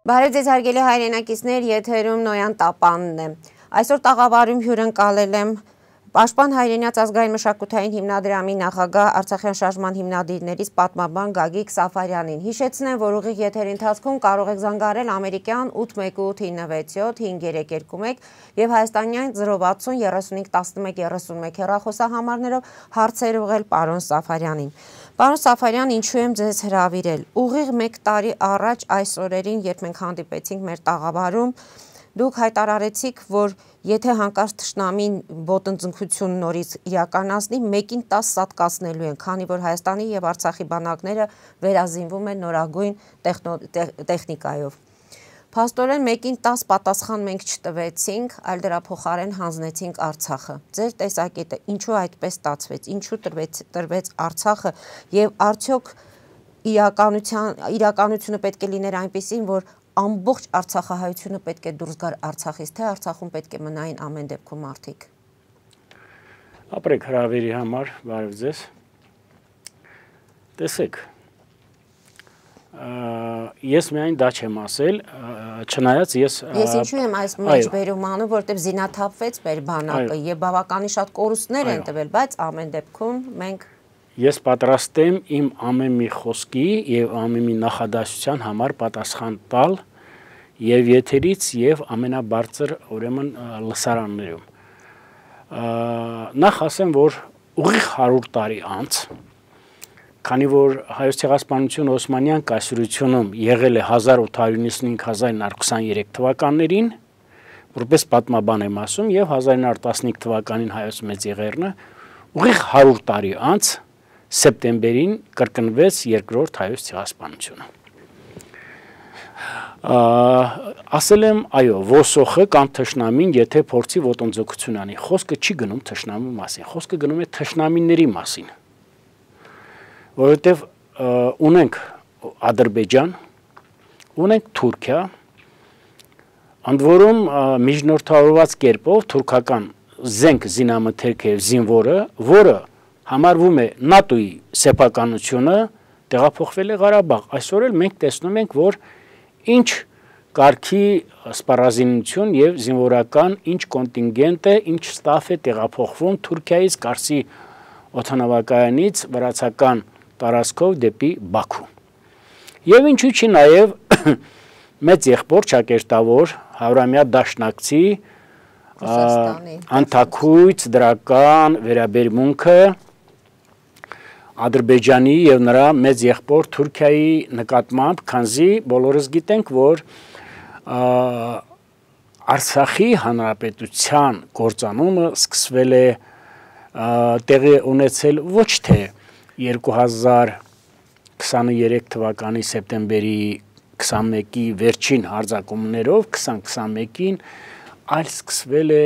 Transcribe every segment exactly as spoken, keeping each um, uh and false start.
Բարև ձեզ հարգելի հայրենակիցներ, եթերում Նոյան Տապանն է։ Այսօր տաղավարում հյուրընկալել եմ Պաշտպան հայրենաց ազգային մշակութային հիմնադրամի նախագահ Արցախյան շարժման հիմնադիրներից պատմաբան Գագիկ Սաֆարյանին։ Հիշեցնեմ, որ ուղիղ եթերի ընթացքում կարող եք զանգարել ամերիկյան ութ մեկ ութ ինը վեց յոթ հինգ երեք երկու մեկ եւ հայաստանյան զրո վաթսուն երեսունհինգ տասնմեկ երեսունմեկ հեռախոսահամարներով հարցեր ուղղել պարոն Սաֆարյանին։ Պարոն Սաֆարյան, ինչու եմ ձեզ հրավիրել։ Ուղիղ մեկ տարի առաջ այս օրերին, երբ մենք հանդիպեցինք մեր տաղավարում, դուք հայտարարեցիք, որ եթե հանկարծ թշնամին ոտնձգություն նորից իրականացնի, մեկին տաս սատկացնելու են, քանի որ Հայաստանի եւ Արցախի բանակները վերազինվում են նորագույն տեխնիկայով։ Փաստորեն մեկին տաս պատասխան մենք չտվեցինք, այլ դրա փոխարեն հանձնեցինք Արցախը։ Ձեր տեսակետը ինչու այդպես ստացվեց, ինչու տրվեց տրվեց Արցախը եւ արդյոք իրականության իրականությունը պետք է լիներ այնպեսին, որ ամբողջ արցախահայությունը պետք է դուրս գար Արցախից, թե Արցախում պետք է մնային ամեն դեպքում մարդիկ։ Ապրեք հրավերի համար, բարև ձեզ։ Տեսեք, ես միայն դա չեմ ասել, չնայած ես Ես ինչու եմ այս մեջբերում անում, որտեղ զինաթափվեց մեր բանակը եւ բավականին շատ կորուստներ են տվել, բայց ամեն դեպքում մենք Ես պատրաստ եմ իմ ամեն մի խոսքի եւ ամեն մի նախադասության համար պատասխան տալ եւ եթերից եւ ամենաբարձր ուրեմն լսարաններում։ Նախ ասեմ, որ ուղիղ հարյուր տարի անց, քանի որ Հայոց ցեղասպանություն Օսմանյան կայսրությունում եղել է հազար ութ հարյուր նվաթ հազար ինը հարյուր քսաներեք թվականներին, որպես պատմաբան եմ ասում, եւ հազար ինը հարյուր տասնհինգ թվականին Հայոց մեծ եղերնը, ուղիղ հարյուր տարի անց սեպտեմբերին կրկնվեց երկրորդ հայոց ցեղասպանությունը։ Ասել եմ, այո, ոսոխը կամ թշնամին, եթե փորձի ոտնձգություն անի, խոսքը չի գնում թշնամու մասին, խոսքը գնում է թշնամիների մասին, որովհետև ունենք Ադրբեջան, ունենք Թուրքիա, ընդ որում միջնորդավորված կերպով թուրքական զենք զինամթերքը եւ զինվորը, որը համարվում է ՆԱՏՕ-ի սեփականությունը, տեղափոխվել է Ղարաբաղ։ Այսօր էլ մենք տեսնում ենք, որ ինչ կարգի սպառազինություն եւ զինվորական ինչ կոնտինգենտ է, ինչ ստաֆ է տեղափոխվում Թուրքիայից Կարսի օդանավակայանից վրացական տարածքով դեպի Բաքու։ Եվ ինչու՞ չի նաեւ մեծ եղբոր ճակերտավոր Հավրամյա Դաշնակցի անթակույց դրական վերաբերմունքը Ադրբեջանի եւ նրա մեծ եղբոր Թուրքիայի նկատմամբ, քանզի բոլորս գիտենք, որ Արցախի հանրապետության կործանումը սկսվել է տեղի ունեցել ոչ թե երկու հազար քսաներեք թվականի սեպտեմբերի քսանմեկի վերջին հարձակումներով, քսան քսանմեկին, այլ սկսվել է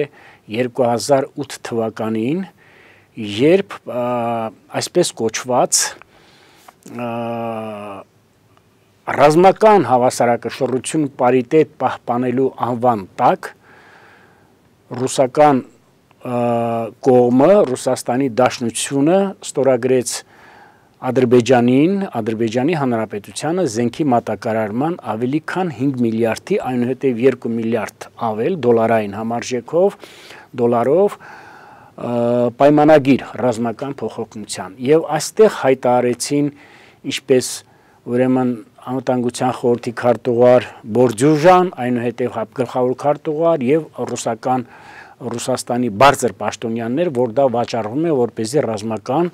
երկու հազար ութ թվականին, երբ այսպես կոչված ռազմական հավասարակշռություն պարիտետ պահպանելու անվան տակ ռուսական կողմը, Ռուսաստանի Դաշնությունը ստորագրեց Ադրբեջանին, Ադրբեջանի Հանրապետությանը զենքի մատակարարման ավելի քան հինգ միլիարդի, այնուհետև երկու միլիարդ ավել դոլարային համարժեքով, դոլարով պայմանագիր ռազմական փոխօգնության եւ այստեղ հայտարարեցին ինչպես ուրեմն անվտանգության խորհրդի քարտուղար Բորդյուժան, այնուհետև գլխավոր քարտուղար եւ ռուսական Ռուսաստանի բարձր պաշտոնյաներ, որ դա վաճառվում է որպեսզի ռազմական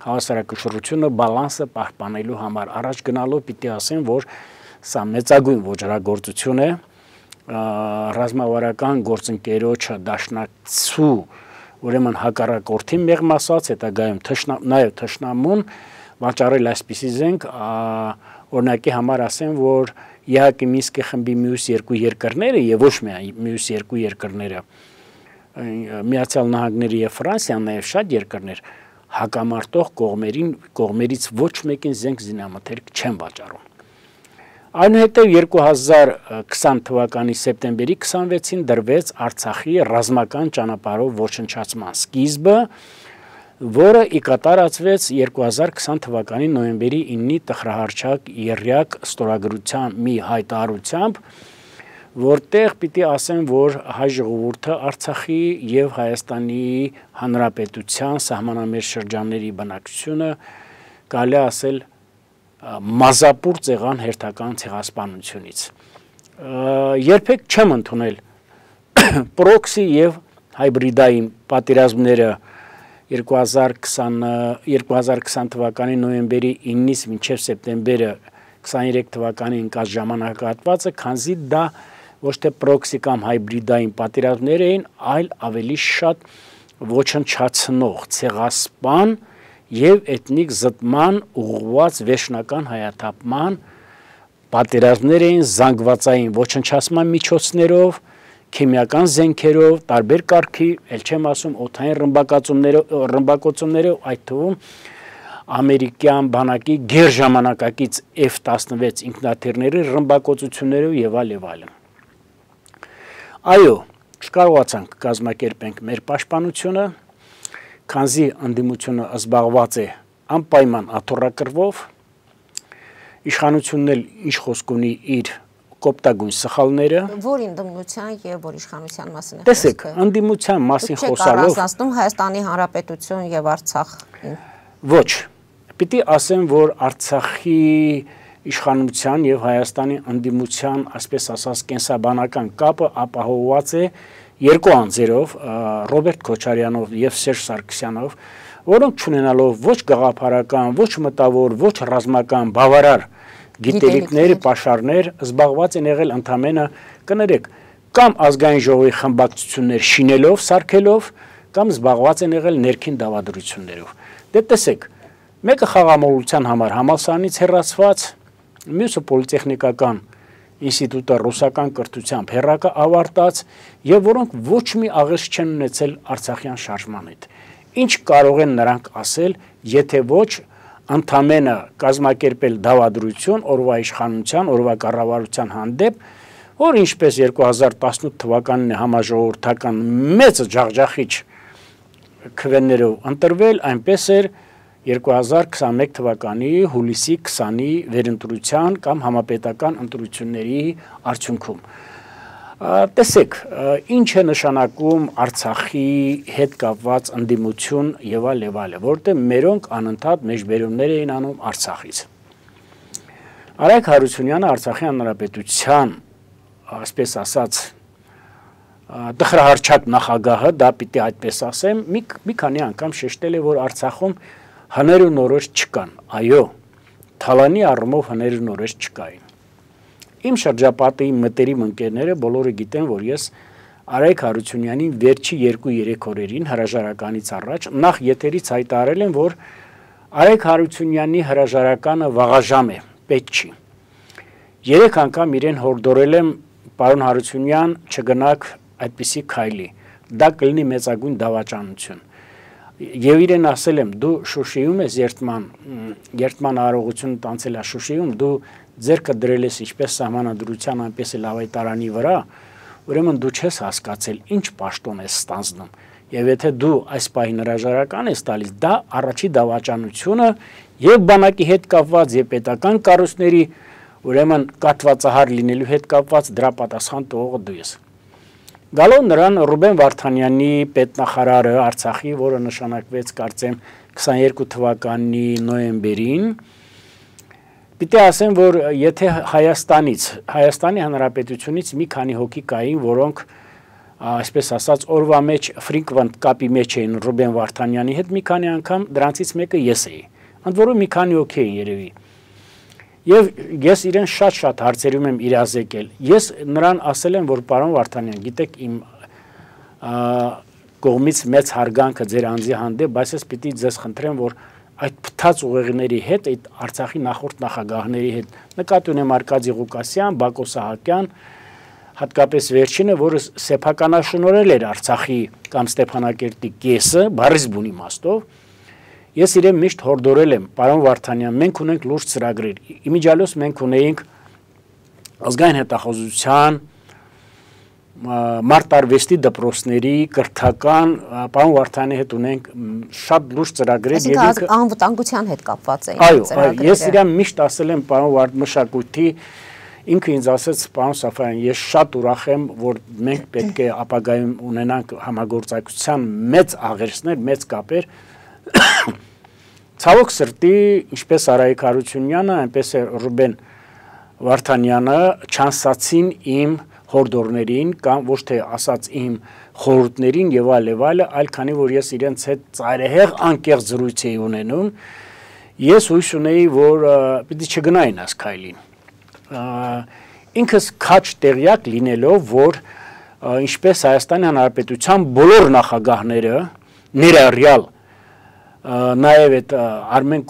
հավասարակշռությունը բալանսը պահպանելու համար առաջ գնալով պիտի ասեմ, որ սա մեծագույն ոչռագործություն է ռազմավարական գործընկերոջը Դաշնակցու ուրեմն հակառակորդի մեղմ ասած, հետագայում նաև թշնամուն վաճառել այսպիսի զենք, օրինակի համար ասեմ, որ ԵԱՀԿ Մինսկի խմբի մյուս երկու երկրները եւ ոչ միայն մյուս երկու երկրները, Միացյալ Նահանգները եւ Ֆրանսիան, նաեւ շատ երկրներ հակամարտող կողմերին կողմերից ոչ մեկին զենք զինամթերք չեն վաճառում։ Այնուհետև երկու հազար քսան թվականի սեպտեմբերի քսանվեցին դրվեց Արցախի ռազմական ճանապարհով ոչնչացման սկիզբը, որը ի կատարածվեց երկու հազար քսան թվականի նոյեմբերի իննի տխրահարչակ եռյակ ստորագրության մի հայտարարությամբ, որտեղ պիտի ասեմ, որ հայ ժողովուրդը Արցախի եւ Հայաստանի Հանրապետության սահմանամերձ շրջանների բնակչությունը կարելի ասել մազապուր ցեղան հերթական ցեղասպանությունից։ Երբեք չեմ ընդունել պրոքսի եւ հայբրիդային պատերազմները երկու հազար քսան թվականի նոյեմբերի իննից մինչև սեպտեմբերը քսաներեք թվականի ընկած ժամանակահատվածը, քանզի դա ոչ թե պրոքսի կամ հայբրիդային պատերազմներ էին, այլ ավելի շատ ոչնչացնող, ցեղասպան եւ էթնիկ զտման ուղղված վերջնական հայաթափման պատերազմներ էին զանգվածային ոչնչացման միջոցներով, քիմիական զենքերով, տարբեր կարգի, ել չեմ ասում օդային ռմբակոծումներով, ռմբակոծումներով, այդ թվում ամերիկյան բանակի գերժամանակակից F տասնվեց ինքնաթիռների ռմբակոծություններով եւ այլ եւ այլն։ Այո, չկարողացանք կազմակերպենք մեր պաշտպանությունը, քանզի ընդդիմությունը զբաղված է անպայման աթոռակրվով, իշխանությունն էլ ինչ խոսք ունի իր կոպտագույն սխալները։ Որ ընդդիմության եւ որ իշխանության մասին է խոսքը։ Տեսեք, ընդդիմության մասին խոսալով առանձնացնում Հայաստանի Հանրապետություն եւ Արցախին։ Ոչ, պիտի ասեմ, որ Արցախի իշխանության եւ Հայաստանի ընդդիմության, այսպես ասած, կենսաբանական կապը ապահովված է երկու անձերով, Ռոբերտ Քոչարյանով եւ Սերժ Սարգսյանով, որոնք չունենալով ոչ գաղափարական, ոչ մտավոր, ոչ ռազմական բավարար գիտելիքներ, պաշարներ, զբաղված են եղել ընդամենը, կներեք, կամ ազգային ժողովի խմբակցություններ շինելով, սարքելով, կամ զբաղված են եղել ներքին դավադրություններով։ Դե տեսեք, մեկը խաղամոլության համար համալսարանից հեռացված, մյուսը պոլիտեխնիկական ինստիտուտը ռուսական կրթությամբ հեռակա ավարտած եւ որոնք ոչ մի աղերս չեն ունեցել արցախյան շարժման հետ։ Ինչ կարող են նրանք ասել, եթե ոչ ընդամենը կազմակերպել դավադրություն օրվա իշխանության, օրվա կառավարության հանդեպ, որ ինչպես երկու հազար տասնութ թվականին համաժողովրդական մեծ ջախջախիչ քվեներով ընտրվել, այնպես էր երկու հազար քսաներեք թվականի հուլիսի քսանի վերընտրության կամ համապետական ընտրությունների արդյունքում։ Տեսեք, ինչ է նշանակում Արցախի հետ կապված ընդդիմություն եւ այլ եւ այլ, որտեղ մերոնք անընդհատ մեջբերումներ էին անում Արցախից։ Արայք Հարությունյանը Արցախի Հանրապետության, այսպես ասած, տխրահարչակ նախագահը, դա պիտի այդպես ասեմ, մի, մի քանի անգամ շեշտել է, որ Արցախում հներ ու նորոշ չկան։ Այո, թալանի առումով հներ ու նորոշ չկային։ Իմ շրջապատի մտերիմ ընկերները բոլորը գիտեն, որ ես Արայք Հարությունյանին վերջի երկու-երեք օրերին հրաժարականից առաջ նախ եթերից հայտարարել եմ, որ Արայք Հարությունյանի հրաժարականը վաղաժամ է, պետք չի։ Երեք անգամ իրեն հորդորել եմ, պարոն Հարությունյան, չգնաք այդպիսի քայլի, դա կլինի մեծագույն դավաճանություն։ Եվ իրեն ասել եմ, դու Շուշիում ես երթման, երթման արարողությունը տանցել է Շուշիում, դու ձերքը դրել ես ինչպես սահմանադրության, այնպես էլ ավետարանի վրա, ուրեմն դու չես հասկացել ինչ պաշտոն ես ստանձնում։ Եվ եթե դու այս պահին հրաժարական ես տալիս, դա առաջի դավաճանությունը եւ բանակի հետ կապված եւ պետական կառույցների, ուրեմն կատվածահար լինելու հետ կապված դրա պատասխան տողը դու ես։ Գալով նրան Ռուբեն Վարդանյանի պետնախարարը Արցախի, որը նշանակվեց կարծեմ քսաներկու թվականի նոյեմբերին, պիտի ասեմ, որ եթե Հայաստանից, Հայաստանի Հանրապետությունից մի քանի հոգի կային, որոնք այսպես ասած օրվա մեջ ֆրիկվենտ կապի մեջ էին Ռուբեն Վարդանյանի հետ, մի քանի անգամ դրանցից մեկը ես էի։ Ընդ որում մի քանի հոգի էին երևի։ Եվ ես իրեն շատ-շատ հարցերում եմ իրազեկել։ Ես նրան ասել եմ, որ պարոն Վարդանյան, գիտեք իմ կողմից մեծ հարգանքը ձեր անձի հանդեպ, բայց ես պիտի ձեզ խնդրեմ, որ այդ փթած ուղեղների հետ, այդ Արցախի նախորդ նախագահների հետ, նկատի ունեմ Արկադի Ղուկասյան, Բակո Սահակյան, հատկապես վերջինը, որը սեփականաշնորհել էր Արցախի կամ Ստեփանակերտի կեսը, բառից բուն իմաստով, ես իրեն միշտ հորդորել եմ, պարոն Վարդանյան, մենք ունենք լուրջ ծրագրեր։ Իմիջիալոց մենք ունեինք ազգային հետախուզության մարտարվեստի դպրոցների կրթական պարոն Վարդանի հետ ունենք շատ լուրջ ծրագրեր եւ ինքը անվտանգության հետ կապված է։ Այո, ես իրան միշտ ասել եմ պարոն Վարդ մշակույթի ինքը ինձ ասեց պարոն Սաֆարյան, ես շատ ուրախ եմ, որ մենք պետք է ապագայում ունենանք համագործակցության մեծ աղերսներ, մեծ կապեր։ Ցավոք սրտի, ինչպես Արայիկ Հարությունյանը, այնպես է Ռուբեն Վարդանյանը չանսացին իմ հորդորներին կամ ոչ թե ասած իմ խորհուրդներին եւ այլ եւ այլ, այլ քանի որ ես իրենց հետ ծայրահեղ անկեղծ զրույց էի ունենում, ես հույս ունեի, որ պիտի չգնային այս քայլին։ Ինքս քաչ տեղյակ լինելով, որ ինչպես Հայաստանի Հանրապետության բոլոր նախագահները ներառյալ նաև այդ Արմեն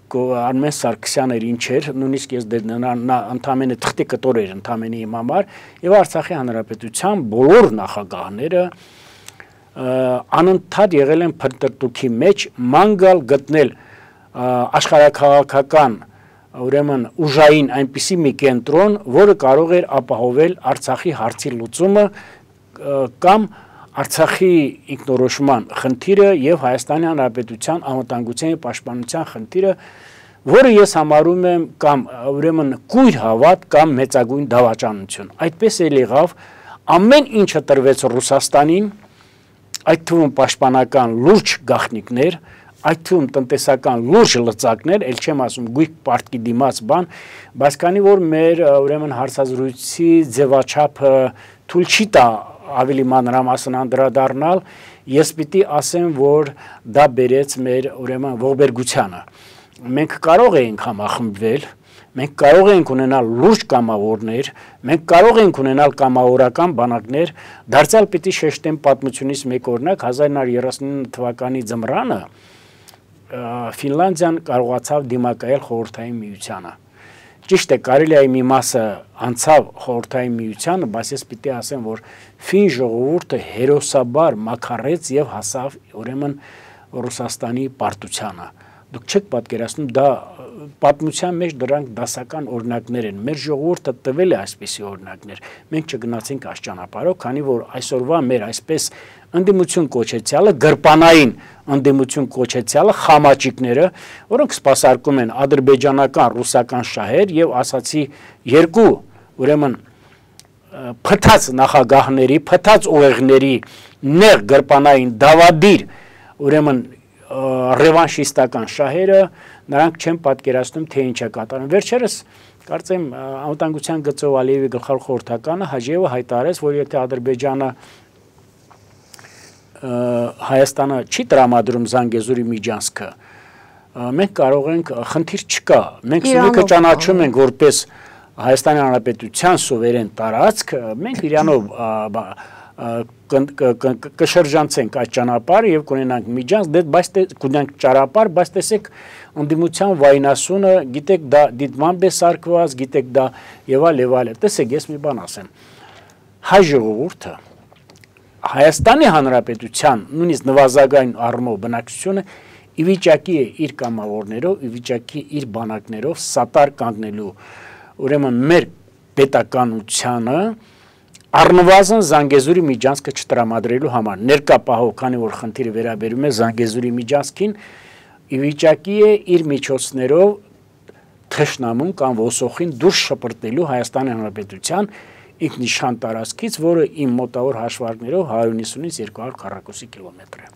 Արմեն Սարգսյանը ինչ էր, նույնիսկ ես նա ընդամենը թղթի կտոր էր ընդամենը իմ համար, եւ Արցախի Հանրապետության բոլոր նախագահները անընդհատ եղել են փնտրտուքի մեջ մանգալ գտնել աշխարհաքաղաքական ուրեմն ուժային այնպիսի մի կենտրոն, որը կարող էր ապահովել Արցախի հարցի լուծումը կամ Արցախի ինքնորոշման խնդիրը եւ Հայաստանի Հանրապետության անվտանգության եւ պաշտպանության խնդիրը, որը ես համարում եմ կամ ուրեմն կույր հավատ կամ մեծագույն դավաճանություն։ Այդպես էլ եղավ, ամեն ինչը տրվեց Ռուսաստանին, այդ թվում պաշտպանական լուրջ գաղտնիքներ, այդ թվում տնտեսական լուրջ լծակներ, ել չեմ ասում գույք պարտքի դիմաց բան, բայց քանի որ մեր ուրեմն հարցազրույցի ձևաչափը թույլ չի տա ավելի մանրամասն անդրադառնալ, ես պիտի ասեմ, որ դա բերեց մեր ուրեմն ողբերգությանը։ Մենք կարող էինք համախմբվել, մենք կարող էինք ունենալ լուրջ կամավորներ, մենք կարող էինք ունենալ կամավորական բանակներ, դարձյալ պիտի շեշտեմ պատմությունից մեկ օրինակ հազար նոր երեսունինը թվականի ձմռանը Ֆինլանդիան կարողացավ դիմակայել խորհրդային միությանը։ Ճիշտ է, կարելի է մի մասը անցավ խորհրդային միությանը, բայց ես պիտի ասեմ, որ ֆին ժողովուրդը հերոսաբար մաքարեց եւ հասավ ուրեմն Ռուսաստանի պարտությանը։ Դուք չեք պատկերացնում, դա պատմության մեջ դրանք դասական օրինակներ են։ Մեր ժողովուրդը տվել է այսպիսի օրինակներ։ Մենք չգնացինք այս ճանապարհով, քանի որ այսօրվա մեր այսպես ընդդիմություն կոչեցյալը, գրպանային ընդդիմություն կոչեցյալը խամաճիկները, որոնք սպասարկում են ադրբեջանական, ռուսական շահեր եւ ասացի երկու ուրեմն փթած նախագահների, փթած ուղեղների նեղ գրպանային դավադիր ուրեմն ռևանշիստական շահերը, նրանք չեն պատկերացնում, թե ինչ է կատարում։ Վերջերս կարծեմ անվտանգության գծով Ալիևի գլխավոր խորհրդականը Հաջիևը հայտարարեց, որ եթե Ադրբեջանը Հայաստանը չի տրամադրում Զանգեզուրի միջանցքը, մենք կարող ենք, խնդիր չկա, մենք Սյունիքը ճանաչում ենք որպես Հայաստանի Հանրապետության սուվերեն տարածք, մենք Իրանով կշրջանցենք այդ ճանապարհը եւ կունենանք միջանց, բայց կունենանք ճանապարհ, բայց տեսեք ընդդիմության վայնասունը, գիտեք դա դիտմամբ է սարկված, գիտեք դա եւ այլ եւ այլ։ Տեսեք, ես մի բան ասեմ։ Հայ ժողովուրդը Հայաստանի Հանրապետության նույնիսկ նվազագույն առումով բնակչությունը ի վիճակի է իր կամավորներով, ի վիճակի իր բանակներով սատար կանգնելու ուրեմն մեր պետականությանը առնվազն Զանգեզուրի միջանցքը չտրամադրելու համար ներկա պահով, քանի որ խնդիրը վերաբերում է Զանգեզուրի միջանցքին, ի վիճակի է իր միջոցներով թշնամուն կամ ոսոխին դուրս շպրտելու Հայաստանի Հանրապետության ինքնիշխան տարածքից, որը իմ մոտավոր հաշվարկներով հարյուր նվաթից երկու հարյուր քառակուսի կիլոմետր է։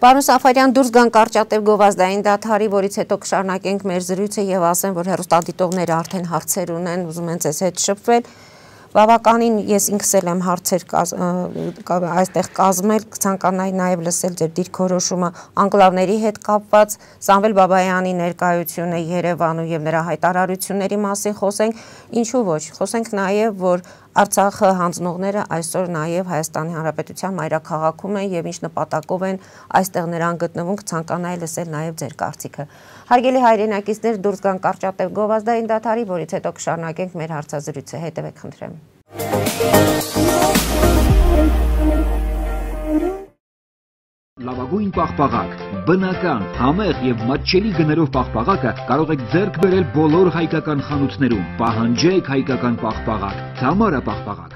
Պարոն Սաֆարյան, դուրս գան կարճատև գովազդային դադարի, որից հետո կշարունակենք մեր զրույցը եւ ասեմ, որ հեռուստադիտողները արդեն հարցեր ունեն, ուզում են ձեզ հետ շփվել։ Բավականին ես ինքս էլ եմ հարցեր այստեղ կազմել, կցանկանայի նաև լսել ձեր դիրքորոշումը անկլավների հետ կապված, Սամվել Բաբայանի ներկայությունը Երևանում եւ նրա հայտարարությունների մասին խոսենք, ինչու ոչ, խոսենք նաև, որ Արցախը հանձնողները այսօր նաև Հայաստանի Հանրապետության մայրաքաղաքում են եւ ինչ նպատակով են այստեղ նրան գտնվում, կցանկանայի լսել նաև ձեր կարծիքը։ Հարգելի հայրենակիցներ, դուրս գան կարճատև գովազդային դադարի, որից հետո կշարունակենք մեր հարցազրույցը, հետևեք խնդրեմ։ Լավագույն պաղպաղակ, բնական, համեղ եւ մատչելի գներով պաղպաղակը կարող եք ձեռք բերել բոլոր հայկական խանութներում։ Պահանջեք հայկական պաղպաղակ, Թամարա պաղպաղակ։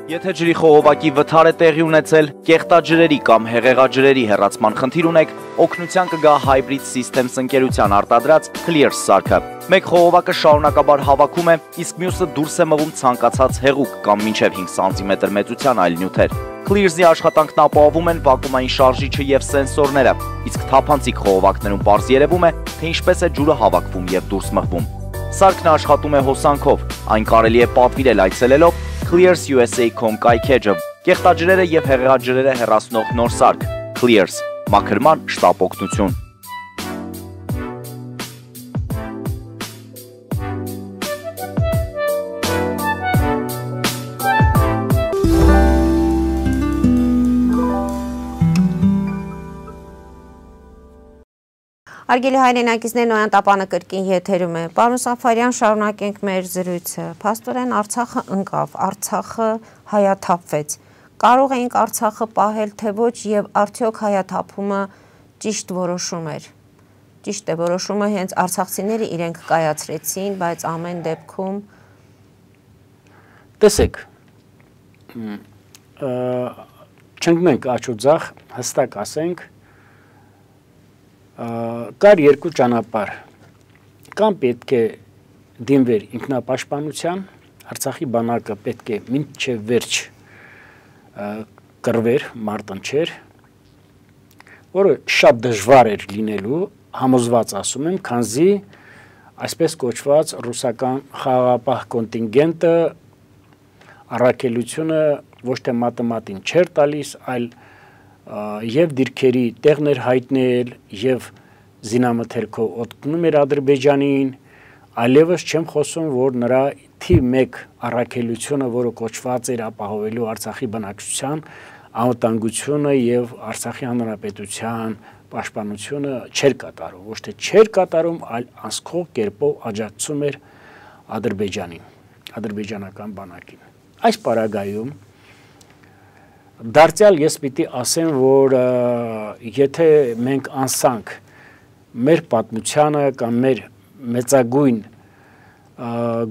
Եթե ջրի խողովակի վթար է տեղի ունեցել, կեղտաջրերի կամ հեղեղաջրերի հեռացման խնդիր ունեք, օգնության կգա Hybrid Systems ընկերության արտադրած Clears սարքը։ Մեկ խողովակը շարունակաբար հավաքում է, իսկ մյուսը դուրս է մղում ցանկացած հեղուկ կամ մինչև հինգ սանտիմետր մեծության այլ նյութեր։ Clears-ի աշխատանքն ապահովում են վակուումային շարժիչը եւ սենսորները, իսկ թափանցիկ խողովակներում պարզ երևում է, թե ինչպես է ջուրը հավաքվում եւ դուրս մղվում։ Սարքն աշխատում է հոսանքով, այն կարելի է պատվիրել այցելելով Clears U S A dot com կայքեջը, կեղտաջրերը եւ հեղեղաջրերը հեռացնող նոր սարք Clears, մաքրման շտապ օգնություն։ Արգելի հայրենակիցներ, Նոյան տապանը կրկին եթերում է։ Պարոն Սաֆարյան, շարունակենք մեր զրույցը։ Փաստորեն Արցախը ընկավ, Արցախը հայաթափվեց։ Կարող էինք Արցախը պահել, թե ոչ, եւ արդյոք հայաթափումը ճիշտ որոշում էր։ Ճիշտ է, որոշումը հենց արցախցիները իրենք կայացրեցին, բայց ամեն դեպքում տեսեք, չընկնենք աջ ու ձախ, հստակ ասենք, կար երկու ճանապարհ, կամ պետք է դիմվեր ինքնապաշտպանության, Արցախի բանակը պետք է մինչև վերջ կռվեր, մարտնչեր, որը շատ դժվար էր լինելու, համոզված ասում եմ, քանզի այսպես կոչված ռուսական խաղաղապահ կոնտինգենտը առաքելությունը ոչ թե մատեմատին չէր տալիս, այլ եւ դիրքերի տեղներ հայտնել եւ զինամթերքով օգնում էր Ադրբեջանին, այլևս չեմ խոսում, որ նրա թիվ մեկ առաքելությունը, որը կոչված էր ապահովելու Արցախի բնակչության անվտանգությունը եւ Արցախի հանրապետության պաշտպանությունը չէր կատարում, ոչ թե չէր կատարում, այլ անսխող կերպով աջակցում էր Ադրբեջանին, ադրբեջանական բանակին։ Այս պարագայում դարձյալ ես պիտի ասեմ, որ եթե մենք անսանք մեր պատմությանը կամ մեր մեծագույն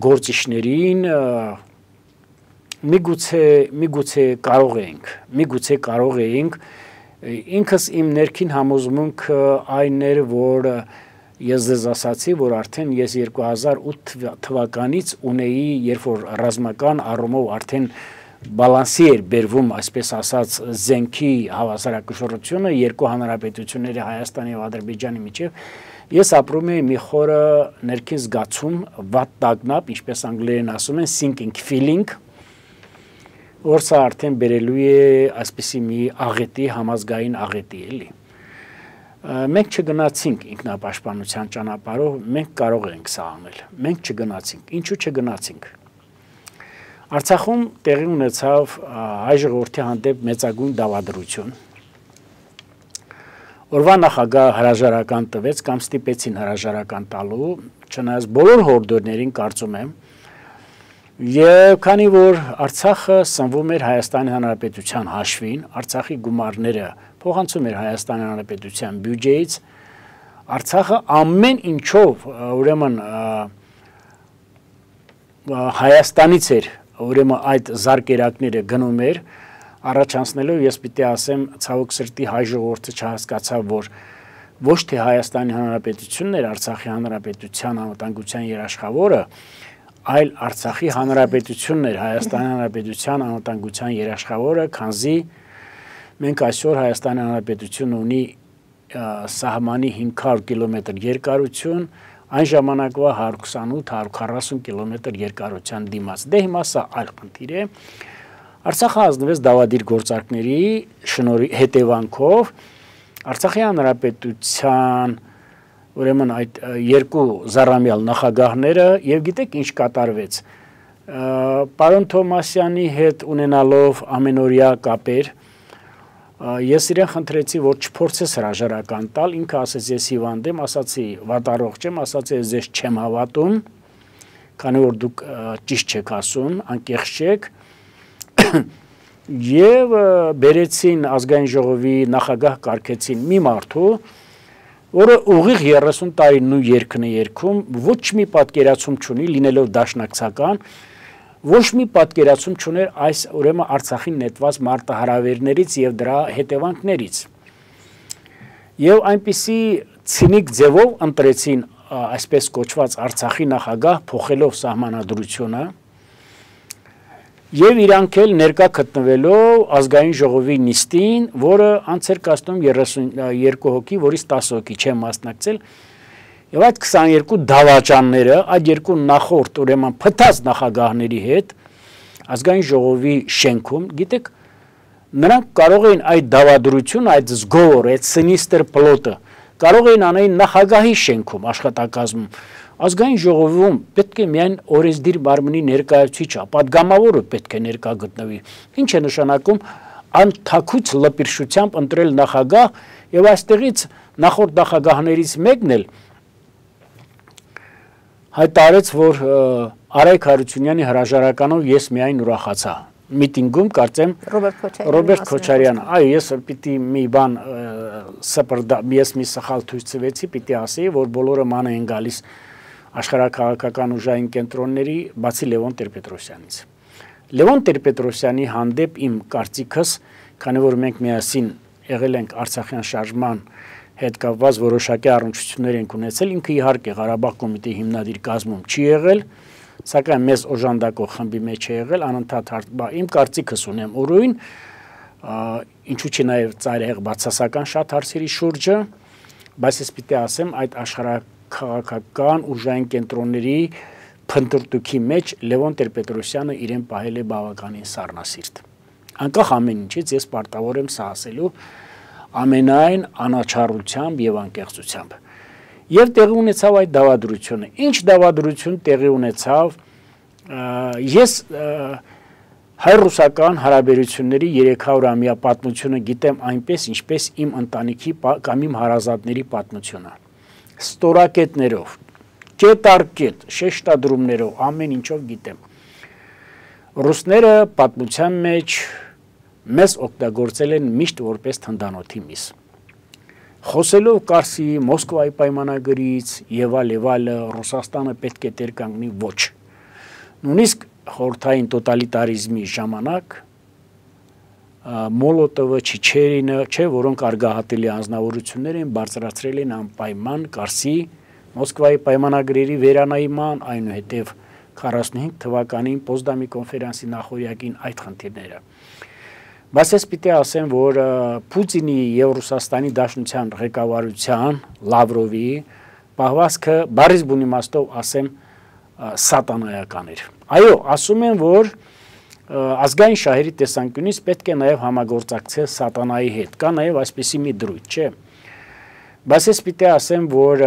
գործիչներին, միգուցե միգուցե կարող էինք, միգուցե կարող էինք, ինքս իմ ներքին համոզմունքը այն էր, որ ես ձեզ ասացի, որ արդեն ես երկու հազար ութ թվականից ունեի, երբ որ ռազմական առումով արդեն բալանսի էր բերվում, այսպես ասած, զենքի հավասարակշռությունը երկու հանրապետությունների Հայաստանի եւ Ադրբեջանի միջև, ես ապրում էի մի խորը ներքին զգացում, վատ տագնապ, ինչպես անգլերեն ասում են, sinking feeling, որ սա արդեն բերելու է այսպիսի մի աղետի, համազգային աղետի էլի։ Մենք չգնացինք ինքնապաշտպանության ճանապարհով, մենք կարող ենք սա անել։ Մենք չգնացինք։ Ինչու չգնացինք։ Արցախում տեղի ունեցավ հայ ժողովրդի հանդեպ մեծագույն դավադրություն։ Օրվա նախագահ հրաժարական տվեց կամ ստիպեցին հրաժարական տալու, չնայած բոլոր հորդորներին կարծում եմ, եւ քանի որ Արցախը սնվում էր Հայաստանի Հանրապետության հաշվին, Արցախի գումարները փոխանցում էր Հայաստանի Հանրապետության բյուջեից, Արցախը ամեն ինչով, ուրեմն Հայաստանից էր ուրեմն այդ զարկերակները գնում էր, առաջանցնելով ես պիտի ասեմ, ցավոք սրտի հայ ժողովուրդը չհասկացավ, որ ոչ թե Հայաստանի Հանրապետությունն էր Արցախի Հանրապետության անվտանգության երաշխավորը, այլ Արցախի Հանրապետությունն էր Հայաստանի Հանրապետության անվտանգության երաշխավորը, քանզի մենք այսօր Հայաստանի Հանրապետությունը ունի սահմանի հինգ հարյուր կիլոմետր երկարություն, այն ժամանակվա հարյուր քսանութ հարյուր քառասուն կիլոմետր երկարության դիմաց։ Դե հիմա սա այլ խնդիր է։ Արցախը ազնվեց դավադիր գործարքների հետևանքով Արցախի Հանրապետության ուրեմն այդ երկու զառամյալ նախագահները եւ գիտեք ինչ կատարվեց։ Պարոն Թոմասյանի հետ ունենալով ամենօրյա կապեր, ես իրեն խնդրեցի, որ չփորձես հրաժարական տալ, ինքը ասեց ես հիվանդ եմ, ասացի վատառողջ եմ, ասացի ես ձեզ չեմ հավատում, քանի որ դուք ճիշտ չեք ասում, անկեղծ չեք, եւ բերեցին ազգային ժողովի նախագահ կարգեցին մի մարդու, որը ուղիղ երեսուն տարի նույն երգն է երգում, ոչ մի պատկերացում չունի, լինելով դաշնակցական, ոչ մի պատկերացում չուներ այս ուրեմն Արցախին նետված մարտահրավերներից եւ դրա հետևանքներից։ Եվ այնպիսի ցինիկ ձևով ընտրեցին այսպես կոչված Արցախի նախագահ, փոխելով սահմանադրությունը եւ իրանք էլ ներկա գտնվելով ազգային ժողովի նիստին, որը անց էր կազմում երեսունյոթ հոգի, որից տասը հոգի չեն մասնակցել, եւ այդ քսաներկու դավաճանները այդ երկու նախորդ ուրեմն փտած նախագահների հետ ազգային ժողովի շենքում, գիտեք, նրանք կարող էին այդ դավադրությունը, այդ զգոր, այդ սինիստր պլոտը կարող էին անել նախագահի շենքում աշխատակազմում։ Ազգային ժողովում պետք է միայն օրենսդիր մարմնի ներկայացուցիչը, պատգամավորը պետք է ներկա գտնվի։ Ինչ է նշանակում անթաքուց լպիրշությամբ ընտրել նախագահ եւ այստեղից նախորդ նախագահներից մեկն էլ հայտարարեց, որ Արայք Հարությունյանի հրաժարականով ես միայն ուրախացա։ Միտինգում կարծեմ Ռոբերտ Քոչարյանը, այո, ես պիտի մի բան սպրդա, ես մի սխալ ցույց տվեցի, պիտի ասեի, որ բոլորը ման են գալիս աշխարհաքաղաքական ուժային կենտրոնների, բացի Լևոն Տեր-Պետրոսյանից։ Լևոն Տեր-Պետրոսյանի հանդեպ իմ կարծիքս, քանի որ մենք միասին եղել ենք Արցախյան շարժման հետ կապված որոշակի առնչություններ ենք ունեցել, ինքը իհարկե Ղարաբաղ կոմիտեի հիմնադիր կազմում չի եղել, սակայն մեզ օժանդակող խմբի մեջ է եղել, անընդհատ իմ կարծիքս ունեմ ուրույն, ինչու՞ չի նաև ծայրահեղ բացասական շատ հարցերի շուրջը, բայց ես պիտի ասեմ, այդ աշխարհաքաղաքական ուժային կենտրոնների փնտրտուքի մեջ Լևոն Տեր-Պետրոսյանը իրեն պահել է բավականին սառնասիրտ։ Անկախ ամեն ինչից ես պարտավոր եմ սա ասելու ամենայն անաչառությամբ եւ անկեղծությամբ։ Եվ տեղի ունեցավ այդ դավադրությունը։ Ինչ դավադրություն տեղի ունեցավ, ես հայ-ռուսական հարաբերությունների երեք հարյուրամյա պատմությունը գիտեմ այնպես, ինչպես իմ ընտանիքի կամ իմ հարազատների պատմությունը։ Ստորակետներով, կետ առ կետ, շեշտադրումներով, ամեն ինչով գիտեմ։ Ռուսները պատմության մեջ մեզ օգտագործել են միշտ որպես թնդանոթի միս։ Խոսելով Կարսի, Մոսկվայի պայմանագրից եւ այլ եւ այլ Ռուսաստանը պետք է տեր կանգնի ոչ։ Նույնիսկ խորհրդային տոտալիտարիզմի ժամանակ Մոլոտովը, Չիչերինը, չէ, որոնք արգահատելի անձնավորություններ են, բարձրացրել են անպայման Կարսի, Մոսկվայի պայմանագրերի վերանայման, այնուհետև քառասունհինգ թվականին Պոզդամի կոնֆերանսի նախօրյակին այդ խնդիրները։ Բայց ես պիտի ասեմ, որ Պուտինի եւ Ռուսաստանի Դաշնության ղեկավարության Լավրովի պահվածքը բարիզ բուն իմաստով ասեմ սատանայական էր։ Այո, ասում են, որ ազգային շահերի տեսանկյունից պետք է նաեւ համագործակցել սատանայի հետ։ Կա նաեւ այսպիսի մի դրույթ, չէ։ Բայց ես պիտի ասեմ, որ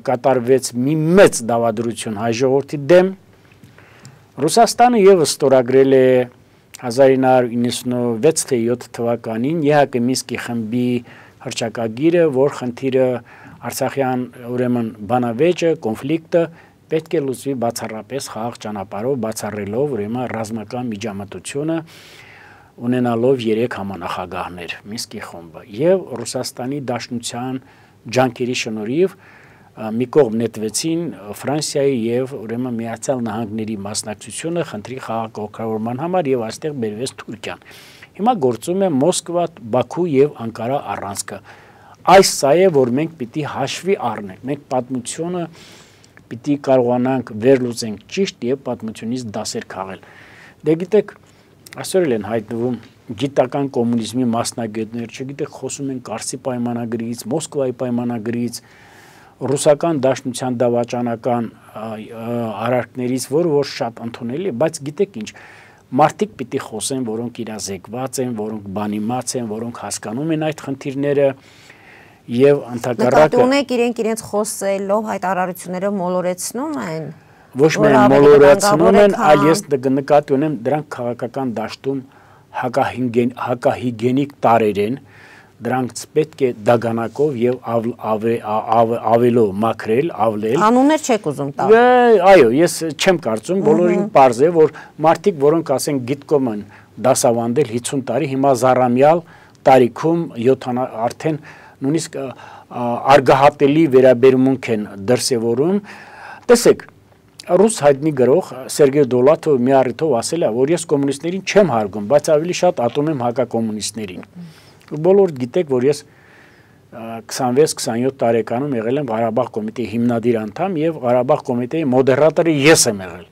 կատարվեց մի մեծ դավադրություն հայ ժողովրդի դեմ։ Ռուսաստանը եւս ստորագրել է հազար ինը հարյուր իննսունվեց թե յոթ թվականին ԵՀԿ Մինսկի խմբի հռչակագիրը, որ խնդիրը Արցախյան ուրեմն բանավեճը, կոնֆլիկտը պետք է լուծվի բացառապես խաղաղ ճանապարհով, բացառելով ուրեմն ռազմական միջամտությունը ունենալով երեք համանախագահներ Մինսկի խումբը եւ Ռուսաստանի Դաշնության ջանքերի շնորհիվ մի կողմ նետվեցին Ֆրանսիայի եւ ուրեմն Միացյալ Նահանգների մասնակցությունը խնդրի խաղաղօգտագործման համար եւ այստեղ բերվեց Թուրքիան։ Հիմա գործում է Մոսկվա, Բաքու եւ Անկարա առանցքը։ Այս սա է, որ մենք պիտի հաշվի առնենք։ Մենք պատմությունը պիտի կարողանանք վերլուծենք ճիշտ եւ պատմությունից դասեր քաղել։ Դե գիտեք, այսօր էլ են հայտնվում գիտական կոմունիզմի մասնագետներ, չգիտեք, խոսում են Կարսի պայմանագրից, Մոսկվայի պայմանագրից, ռուսական դաշնության դավաճանական արարքներից, որը որ շատ ընդունելի է, բայց գիտեք ինչ, մարդիկ պիտի խոսեն, որոնք իրազեկված են, որոնք բանիմաց են, որոնք հասկանում են այդ խնդիրները եւ ընդհակառակը նկատի ունեք իրենք իրենց խոսելով հայտարարությունները մոլորեցնում են։ Ոչ միայն մոլորեցնում են, այլ ես նկատի ունեմ դրանք քաղաքական դաշտում հակահիգենիկ տարեր են, դրանք պետք է դագանակով եւ ավելով մաքրել, ավլել։ Անուններ չեք ուզում տալ։ Այո, ես չեմ կարծում, բոլորին պարզ է, որ մարդիկ, որոնք ասեն գիտկոմ են դասավանդել հիսուն տարի, հիմա զառամյալ տարիքում արդեն նույնիսկ արգահատելի վերաբերմունք են դրսևորում։ Տեսեք, ռուս հայտնի գրող Սերգեյ Դոլաթովը մի առիթով ասել է, որ ես կոմունիստներին չեմ հարգում, բայց ավելի շատ ատում եմ հակակոմունիստներին։ Բոլորդ գիտեք, որ ես քսանվեց քսանյոթ տարեկանում եղել եմ Ղարաբաղ կոմիտեի հիմնադիր անդամ եւ Ղարաբաղ կոմիտեի մոդերատորը ես եմ եղել։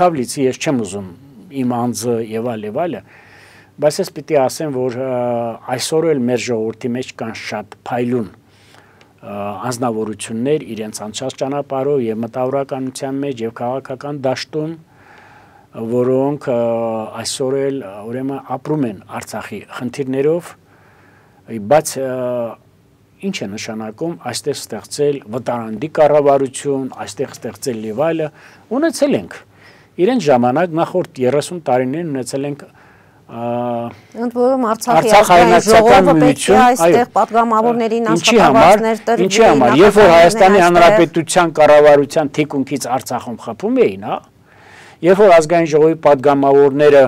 Քավլիցի ես չեմ ուզում իմ անձը եւ այլ եւ այլը, բայց ես պիտի ասեմ, որ այսօր էլ մեր ժողովրդի մեջ կան շատ փայլուն անձնավորություններ իրենց անցած ճանապարհով եւ մտավորականության մեջ եւ քաղաքական դաշտում, որոնք այսօր էլ ուրեմն ապրում են Արցախի խնդիրներով, բայց ինչ է նշանակում այստեղ ստեղծել վտարանդի կառավարություն, այստեղ ստեղծել եւ այլը, ունեցել ենք իրենց ժամանակ նախորդ երեսուն տարիներին ունեցել ենք ընդ որում Արցախի ազգային ժողովը պետք է այստեղ պատգամավորներին աշխատավարձներ տրվի, ինչի համար, երբ որ Հայաստանի Հանրապետության կառավարության թիկունքից Արցախում խփում էին, հա, երբ որ ազգային ժողովի պատգամավորները,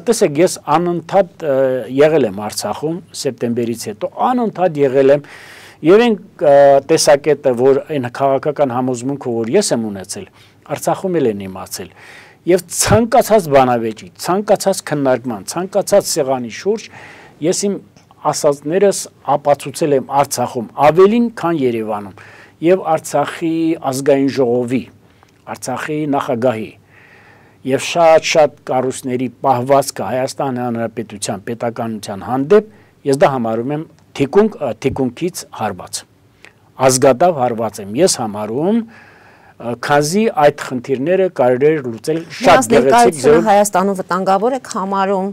տեսեք, ես անընդհատ եղել եմ Արցախում սեպտեմբերից հետո, անընդհատ եղել եմ եւ այն տեսակետը, որ այն քաղաքական համոզմունքը, որ ես եմ ունեցել, Արցախում էլ են իմացել։ Եվ ցանկացած բանավեճի, ցանկացած քննարկման, ցանկացած սեղանի շուրջ ես իմ ասածներս ապացուցել եմ Արցախում ավելին, քան Երևանում, եւ Արցախի ազգային ժողովի, Արցախի նախագահի եւ շատ-շատ կառույցների պահվածքը Հայաստանի Հանրապետության պետականության հանդեպ ես դա համարում եմ թիկունք թիկունքից հարված։ Ազգադավ հարված եմ ես համարում, քանզի այդ խնդիրները կարելի է լուծել շատ գեղեցիկ ձևով։ Հայաստանում վտանգավոր եք համարում։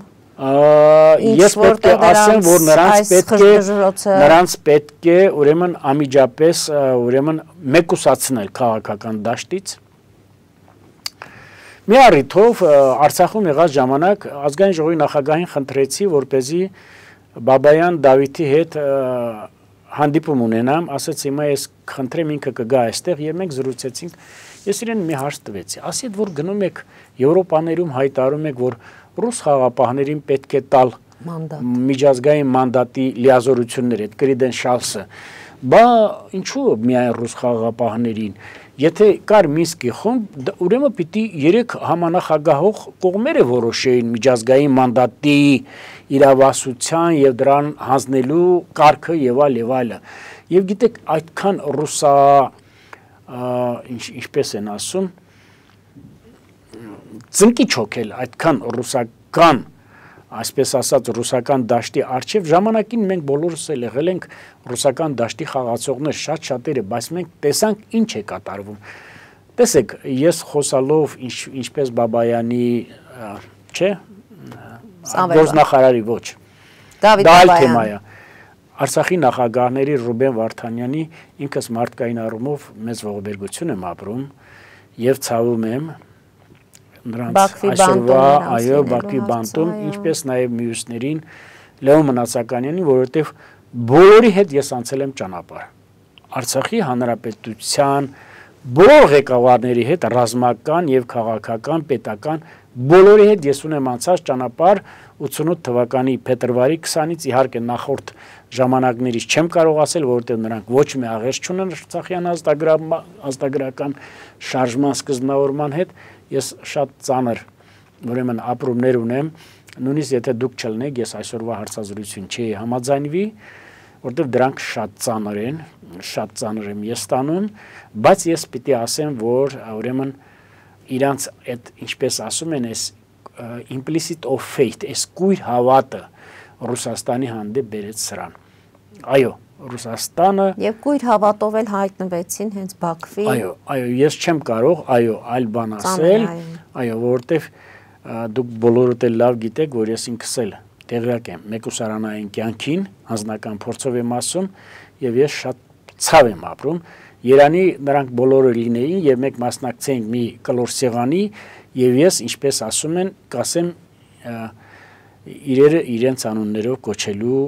Ես պետք է ասեմ, որ նրանց պետք է նրանց պետք է ուրեմն անմիջապես ուրեմն մեկուսացնել քաղաքական դաշտից։ Մի առիթով Արցախում եղած ժամանակ ազգային ժողովի նախագահին խնդրեցի, որպեսզի Բաբայան Դավիթի հետ հանդիպում ունենամ, ասաց հիմա ես խնդրեմ ինքը կգա այստեղ եւ մենք զրուցեցինք, ես իրեն մի հարց տվեցի, ասի որ գնում եք Եվրոպաներում հայտարարում եք, որ ռուս խաղապահներին պետք է տալ միջազգային մանդատի լիազորություններ, այդ credentials-ը, բա ինչու միայն ռուս խաղապահներին, եթե կար Մինսկի խումբ, ուրեմն պիտի երեք համանախագահող կողմերը որոշեին միջազգային մանդատի իրավասության եւ դրան հանձնելու կարգը եւ այլ եւ այլը։ Եվ գիտեք, այդքան ռուսա ինչ ինչպես են ասում, ծնկի չոքել, այդքան ռուսական, այսպես ասած, ռուսական դաշտի արչև ժամանակին մենք բոլորս էլ եղել ենք ռուսական դաշտի խաղացողներ, շատ շատերը, բայց մենք տեսանք ինչ է կատարվում։ Տեսեք, ես խոսալով ինչ, ինչպես Բաբայանի, չէ, գործնախարարի ոչ, դա այլ թեմա է։ Արցախի նախագահների Ռուբեն Վարդանյանի ինքս մարդկային առումով մեծ ողբերգություն եմ ապրում եւ ցավում եմ նրանց այսօրվա այո Բաքվի բանտում, ինչպես նաեւ մյուսներին Լեոն Մնացականյանին, որովհետեւ բոլորի հետ ես անցել եմ ճանապարհ։ Արցախի հանրապետության բոլոր ղեկավարների հետ ռազմական եւ քաղաքական, պետական բոլորի հետ ես ունեմ անցած ճանապարհ ութսունութ թվականի փետրվարի քսանից, իհարկե նախորդ ժամանակներից չեմ կարող ասել, որովհետեւ նրանք ոչ մի աղերս չունեն Արցախյան ազգագրական շարժման սկզբնավորման հետ, ես շատ ծանր ուրեմն ապրումներ ունեմ, նույնիսկ եթե դուք չլնեք, ես այսօրվա հարցազրույցին չի համաձայնվի, որտեղ դրանք շատ ծանր են, շատ ծանր եմ ես ստանում, բայց ես պիտի ասեմ, որ ուրեմն իրանց այդ ինչպես ասում են, այս implicit of faith, այս կույր հավատը Ռուսաստանի հանդեպ բերեց սրան։ Այո, Ռուսաստանը եւ կույր հավատով էլ հայտնվեցին հենց Բաքվի։ Այո, այո, ես չեմ կարող, այո, այլ բան ասել, այո, որովհետեւ դուք բոլորդ էլ լավ գիտեք, որ ես ինքս էլ տեղյակ եմ մեկուսարանային կյանքին, անձնական փորձով եմ ասում, եւ ես շատ ցավ եմ ապրում։ Երանի նրանք բոլորը լինեին եւ մենք մասնակցեինք մի կլոր սեղանի եւ ես, ինչպես ասում են, կասեմ իրերը իրենց անուններով կոչելու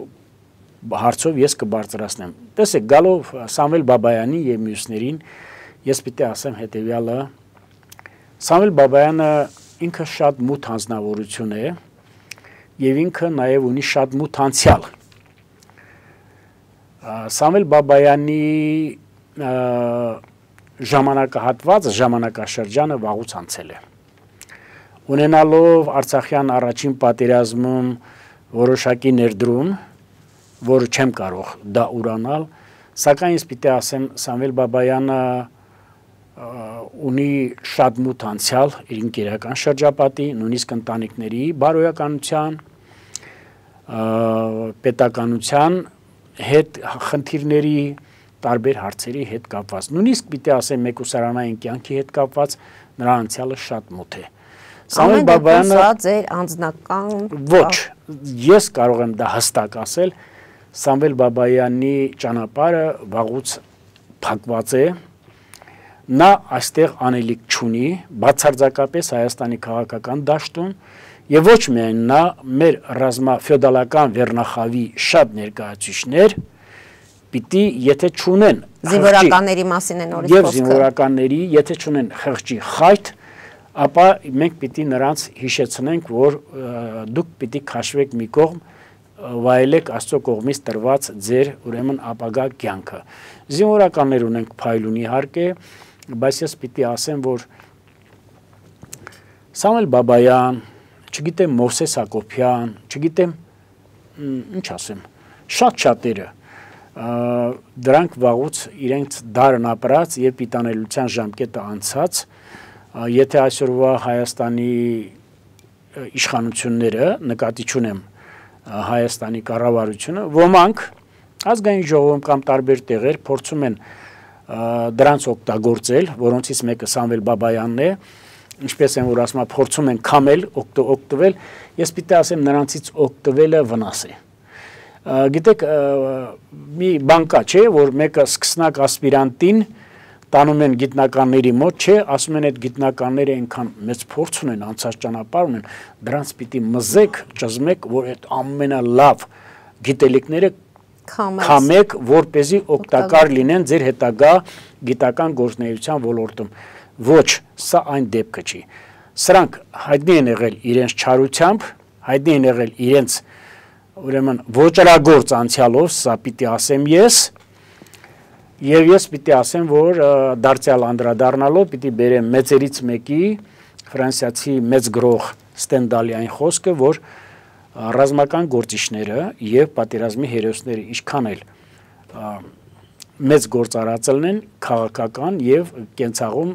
հարցով ես կբարձրացնեմ։ Տեսեք, գալով Սամվել Բաբայանի եւ մյուսներին, ես պիտի ասեմ հետեւյալը. Սամվել Բաբայանը ինքը շատ մութ հանձնավորություն է եւ ինքը նաեւ ունի շատ մութ անցյալ։ Սամվել Բաբայանի ժամանակահատվածը, ժամանակաշրջանը վաղուց անցել է։ Ունենալով Արցախյան առաջին պատերազմում որոշակի ներդրում, որը չեմ կարող դա ուրանալ, սակայն ես պիտի ասեմ, Սամվել Բաբայանը ունի շատ մութ անցյալ իր ընկերական շրջապատի, նույնիսկ ընտանիքների բարոյականության, պետականության հետ խնդիրների, տարբեր հարցերի հետ կապված։ Նույնիսկ պիտի ասեմ մեկուսարանային կյանքի հետ կապված նրա անցյալը շատ մութ է։ Սամվել Բաբայանը սա ձեր անձնական ոչ, ես կարող եմ դա հստակ ասել, Սամվել Բաբայանի ճանապարհը վաղուց փակված է, նա այստեղ անելիք չունի, բացարձակապես Հայաստանի քաղաքական դաշտում եւ ոչ միայն նա, մեր ռազմաֆեոդալական վերնախավի շատ ներկայացուցիչներ պիտի եթե չունեն զինվորականների մասին է նորից խոսքը եւ զինվորականների եթե չունեն խղճի խայտ, ապա մենք պիտի նրանց հիշեցնենք, որ դուք պիտի քաշվեք մի կողմ, վայելեք Աստծո կողմից տրված ձեր ուրեմն ապագա կյանքը։ Զինվորականներ ունենք փայլուն իհարկե, բայց ես պիտի ասեմ, որ Սամվել Բաբայան, չգիտեմ Մովսես Հակոբյան, չգիտեմ ինչ ասեմ, շատ շատերը դրանք վաղուց իրենց դարն ապրած եւ պիտանելիության ժամկետը անցած, եթե այսօրվա Հայաստանի իշխանությունները նկատի չունեմ Հայաստանի կառավարությունը, ոմանք ազգային ժողովում կամ տարբեր տեղեր փորձում են դրանց օգտագործել, որոնցից մեկը Սամվել Բաբայանն է, ինչպես են որ ասում, փորձում են քամել, օգտվել, ես պիտի ասեմ նրանցից օգտվելը վնաս է։ Գիտեք, մի բան կա, չէ, որ մեկը սկսնակ ասպիրանտին տանում են գիտնականների մոտ, չէ, ասում են այդ գիտնականները այնքան մեծ փորձ ունեն, անցած ճանապարհ ունեն, դրանց պիտի մզեք, ճզմեք, որ այդ ամենալավ գիտելիքները քամեք, որպեսզի օգտակար լինեն ձեր հետագա գիտական գործունեության ոլորտում։ Ոչ, սա այն դեպքը չի։ Սրանք հայտնի են եղել իրենց չարությամբ, հայտնի են եղել իրենց ուրեմն ոչրագործ անցյալով, սա պիտի ասեմ ես, եւ ես պիտի ասեմ, որ դարձյալ անդրադառնալով պիտի բերեմ մեծերից մեկի ֆրանսիացի մեծ գրող Ստենդալի այն խոսքը, որ ռազմական գործիչները եւ պատերազմի հերոսները ինչքան էլ մեծ գործարածելն են քաղաքական եւ կենցաղում,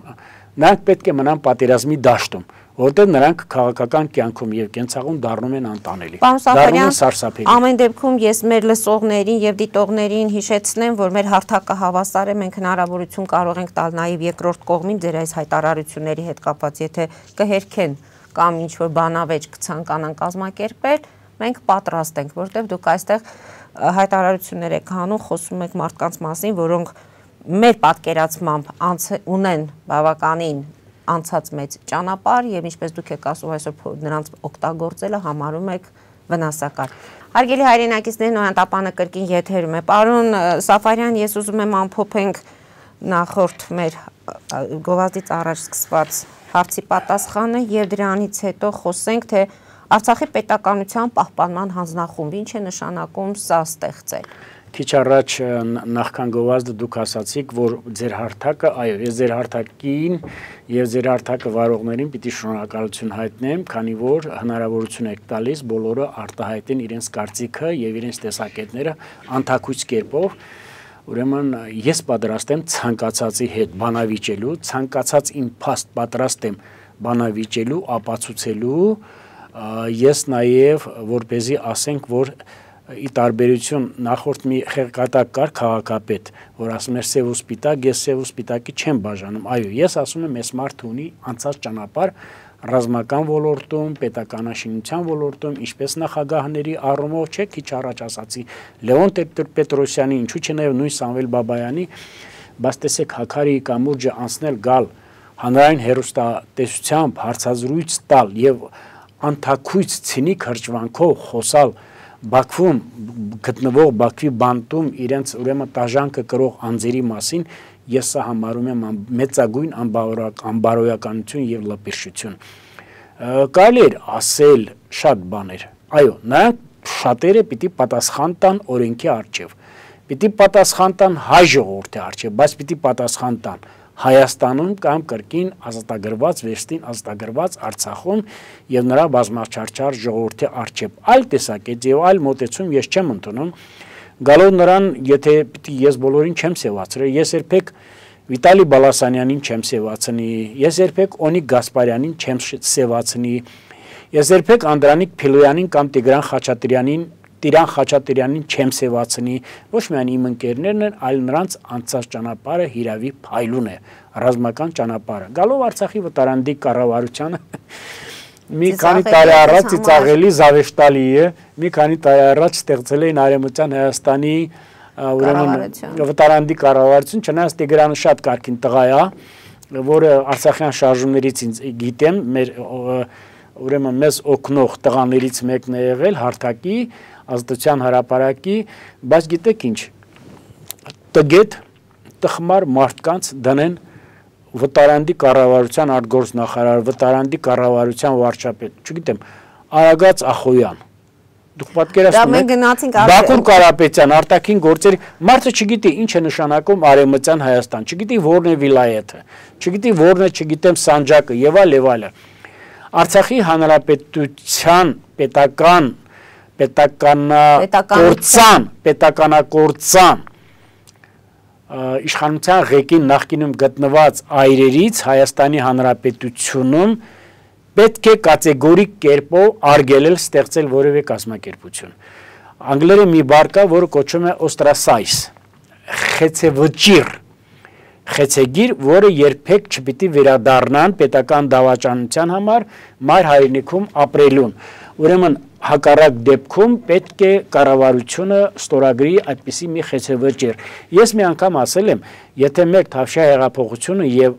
նրանք պետք է մնան պատերազմի դաշտում, որտեղ նրանք քաղաքական կյանքում եւ կենցաղում դառնում են անտանելի, դառնում են սարսափելի։ Ամեն դեպքում ես մեր լսողներին եւ դիտողներին հիշեցնեմ, որ մեր հարթակը հավասար է, մենք հնարավորություն կարող ենք տալ նաեւ երկրորդ կողմին ձեր այս հայտարարությունների հետ կապված, եթե կհերքեն կամ ինչ որ բանավեճ կցանկանան կազմակերպել, մենք պատրաստ ենք, որտեղ դուք այստեղ հայտարարություններ եք անում, խոսում եք մարդկանց մասին, որոնք մեր պատկերացմամբ ունեն բավականին անցած մեծ ճանապարհ եւ ինչպես դուք եք ասում այսօր նրանց օգտագործելը համարում եք վնասակար։ Հարգելի հայրենակիցներ, Նոյան տապանը կրկին եթերում է։ Պարոն Սաֆարյան, ես ուզում եմ ամփոփենք նախորդ մեր գովազդից առաջ սկսված հարցի պատասխանը եւ դրանից հետո խոսենք, թե Արցախի պետականության պահպանման հանձնախումբ ինչ է նշանակում սա ստեղծել։ Քիչ առաջ նախքան գովազդը դուք ասացիք, որ ձեր հարթակը, այո, ես ձեր հարթակին եւ ձեր հարթակը վարողներին պիտի շնորհակալություն հայտնեմ, քանի որ հնարավորություն եք տալիս բոլորը արտահայտեն իրենց կարծիքը եւ իրենց տեսակետները անթակույց կերպով։ Ուրեմն ես պատրաստ եմ ցանկացածի հետ բանավիճելու, ցանկացած իմ փաստ պատրաստ եմ բանավիճելու, ապացուցելու, ես նաեւ որպեսզի ասենք, որ ի տարբերություն նախորդ մի խեղկատակ կար քաղաքապետ, որ ասում էր սև ու սպիտակ, ես սև ու սպիտակի չեմ բաժանում։ Այո, ես ասում եմ, այս մարդը ունի անցած ճանապարհ ռազմական ոլորտում, պետականաշինության ոլորտում, ինչպես նախագահների առումով, չէ, քիչ առաջ ասացի Լեոն Պետրոսյանի, ինչու՞ չէ նաև նույն Սամվել Բաբայանի, բայց տեսեք Հաքարիի կամուրջը անցնել գալ հանրային հերոստատեսությամբ հարցազրույց տալ եւ անթակույց ցինիկ հրճվանքով խոսալ Բաքվում գտնվող Բաքվի բանտում իրենց ուրեմն տաժանքը կրող անձերի մասին, ես սա համարում եմ մեծագույն անբարոյականություն եւ լպիրշություն։ Կարելի է ասել շատ բաներ։ Այո, նրանք շատերը պիտի պատասխան տան օրենքի առջև, պիտի պատասխան տան հայ ժողովրդի առջև, բայց պիտի պատասխան տան Հայաստանում կամ կրկին ազատագրված վերստին ազատագրված Արցախում եւ նրա բազմաչարչար ժողովրդի արչեւ այլ տեսակետ եւ այլ մոտեցում ես չեմ ընդունում գալով նրան եթե պիտի ես բոլորին չեմ սեվացրել ես երբեք Վիտալի Բալասանյանին չեմ սեվացնի ես երբեք Օնիկ Գասպարյանին չեմ սեվացնի ես երբեք Անդրանիկ Փիլոյանին կամ Տիգրան Խաչատրյանին Տիրան Խաչատրյանին չեմ սեվացնի ոչ միայն իմ ընկերներն են այլ նրանց անցած ճանապարհը հիրավի փայլուն է ռազմական ճանապարհը գալով Արցախի վտարանդի կառավարությանը մի քանի տարի առաջ ծիծաղելի զավեշտալի է մի քանի տարի առաջ ստեղծել էին Արևմտյան Հայաստանի ուրեմն վտարանդի կառավարություն չնայած Տիգրանը շատ կարգին տղա է որը արցախյան շարժումներից ինձ գիտեմ մեր ուրեմն մեզ օգնող տղաներից մեկն է եղել հարթակի ազատության հրապարակի, բայց գիտեք ինչ, տգետ, տխմար մարդկանց դնեն վտարանդի կառավարության արտգործնախարար, վտարանդի կառավարության վարչապետ, չգիտեմ, Արագած Ախոյան, դուք պատկերացնում եք, Բաքուր Կարապետյան, արտաքին գործերի, մարդը չգիտի ինչ է նշանակում Արևմտյան Հայաստան, չգիտի որն է վիլայեթը, չգիտի որն է, չգիտեմ Սանջակը եւ այլ եւ այլը։ Արցախի հանրապետության պետական պետականագործան, պետականագործան իշխանության ղեկին նախկինում գտնված այրերից Հայաստանի Հանրապետությունում պետք է կատեգորիկ կերպով արգելել ստեղծել որևէ կազմակերպություն։ Անգլերեն մի բառ կա, որը կոչվում է ostracize, խեցեվճիռ, խեցեգիր, որը երբեք չպիտի վերադառնան պետական դավաճանության համար մայր հայրենիքում ապրելուն։ Ուրեմն հակառակ դեպքում պետք է կառավարությունը ստորագրի այդպիսի մի խեցեվճիռ։ Ես մի անգամ ասել եմ, եթե մեկ Թավշյա հեղափոխությունը եւ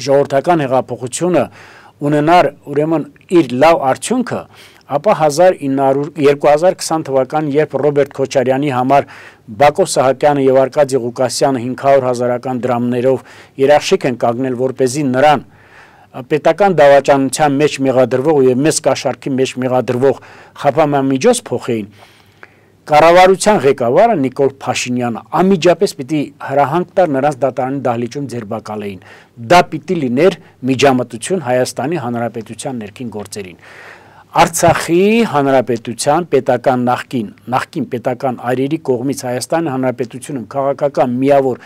ժողովրդական հեղափոխությունը ունենար ուրեմն իր լավ արդյունքը, ապա երկու հազար քսան թվականին, երբ Ռոբերտ Քոչարյանի համար Բակո Սահակյանը եւ Արկադի Ղուկասյանը հինգ հարյուր հազարական դրամներով երաշխիք են կանգնել, որպեսզի նրան պետական դավաճանության մեջ մեղադրվող եւ մեծ կաշառքի մեջ մեղադրվող խափամամիջոց փոխեին, կառավարության ղեկավարը Նիկոլ Փաշինյանը անմիջապես պիտի հրահանգ տար նրանց դատարանի դահլիճում ձերբակալեին։ Դա պիտի լիներ միջամտություն Հայաստանի Հանրապետության ներքին գործերին։ Արցախի Հանրապետության պետական նախկին, նախկին պետական այրերի կողմից Հայաստանի Հանրապետությունում քաղաքական միավոր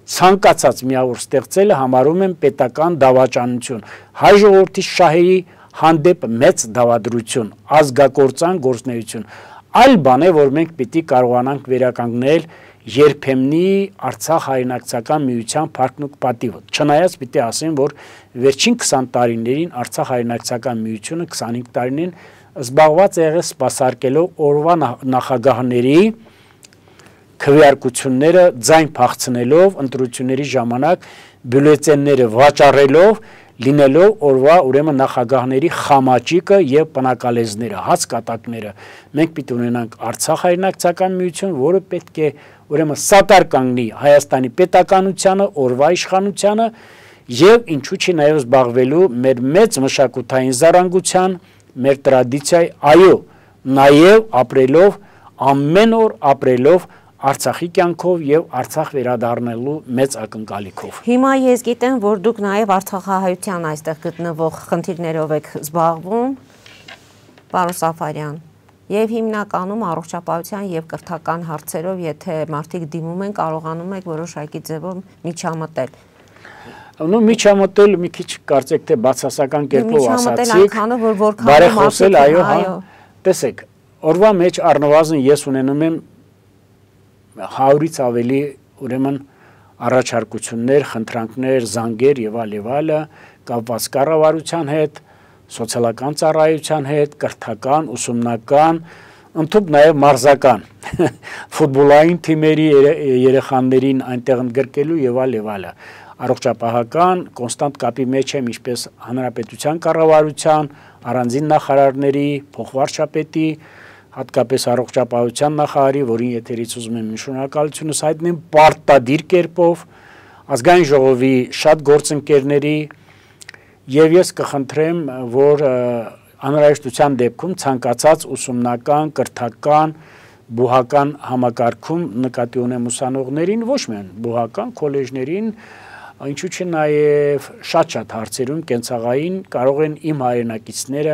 ցանկացած միավոր ստեղծելը համարում են պետական դավաճանություն, հայ ժողովրդի շահերի հանդեպ մեծ դավադրություն, ազգակործան գործունեություն, այլ բան է, որ մենք պիտի կարողանանք վերականգնել երբեմնի Արցախ հայրենակցական միության փառքն ու պատիվը։ Չնայած պիտի ասեմ, որ վերջին քսան տարիներին Արցախ հայրենակցական միությունը քսանհինգ տարիներին զբաղված է եղել սպասարկելով օրվա նախագահների քվեարկությունները ձայն փախցնելով ընտրությունների ժամանակ բյուլետենները վաճառելով լինելով օրվա ուրեմն նախագահների խամաճիկը եւ պնակալեզները, հաց կատակները։ Մենք պիտի ունենանք Արցախ հայրենակցական միություն, որը պետք է ուրեմն սատար կանգնի Հայաստանի պետականությանը, օրվա իշխանությանը եւ ինչու՞ չի նաեւ զբաղվելու մեր մեծ մշակութային զարանգության, մեր տրադիցիայի, այո, նաեւ ապրելով ամեն օր ապրելով Արցախի կյանքով եւ Արցախ վերադառնալու մեծ ակնկալիքով։ Հիմա ես գիտեմ, որ դուք նաեւ արցախահայության այստեղ գտնվող խնդիրներով եք զբաղվում, պարոն Սաֆարյան, եւ հիմնականում առողջապահության եւ կրթական հարցերով, եթե մարդիկ դիմում են, կարողանում եք որոշակի ձևով միջամտել։ Նո միջամտել մի քիչ կարծեք թե բացասական կերպով ասացիք։ Միջամտել այնքանը, որ որքան բարեխոսել, այո, հա։ Տեսեք, օրվա մեջ առնվազն ես ունենում եմ հարյուրից ավելի ուրեմն առաջարկություններ, խնդրանքներ, զանգեր եւ այլ եւ այլը կապված կառավարության հետ, սոցիալական ծառայության հետ, կրթական, ուսումնական, ընդհանուր նաեւ մարզական ֆուտբոլային թիմերի երեխաներին այնտեղ ընդգրկելու եւ այլ եւ այլը։ Առողջապահական կոնստանտ կապի մեջ եմ ինչպես հանրապետության կառավարության, առանձին նախարարների, փոխվարչապետի, հատկապես առողջապահության նախարարի, որին եթերից ուզում եմ շնորհակալությունս հայտնեմ պարտադիր կերպով, ազգային ժողովի շատ գործընկերների եւ ես կխնդրեմ, որ անհրաժեշտության դեպքում ցանկացած ուսումնական, կրթական, բուհական համակարգում նկատի ունեմ ուսանողներին, ոչ միայն բուհական քոլեջներին, Ինչու՞ չէ նաև շատ-շատ հարցերում կենցաղային կարող են իմ հայրենակիցները